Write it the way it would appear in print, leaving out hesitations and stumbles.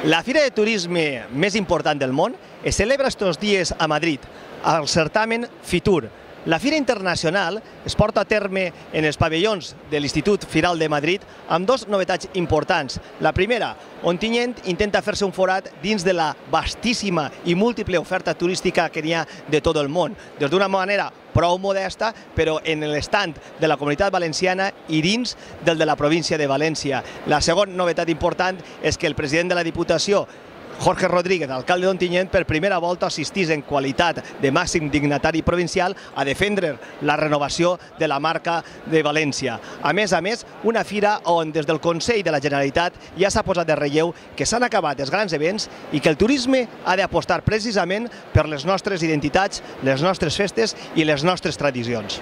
La fira de turisme més important del món es celebra estos dies a Madrid, al certamen Fitur. La fira internacional es porta a terme en els pavellons de l'Institut Firal de Madrid amb dues novetats importants. La primera, Ontinyent intenta fer-se un forat dins de la vastíssima i múltiple oferta turística que n'hi ha de tot el món, des d'una manera prou modesta, però en l'estand de la Comunitat Valenciana i dins del de la província de València. La segona novetat important és que el president de la Diputació, Jorge Rodríguez, alcalde d'Ontinyent, per primera volta assistís en qualitat de màxim dignatari provincial a defendre la renovació de la marca de València. A més, una fira on des del Consell de la Generalitat ja s'ha posat de relleu que s'han acabat els grans events i que el turisme ha d'apostar precisament per les nostres identitats, les nostres festes i les nostres tradicions.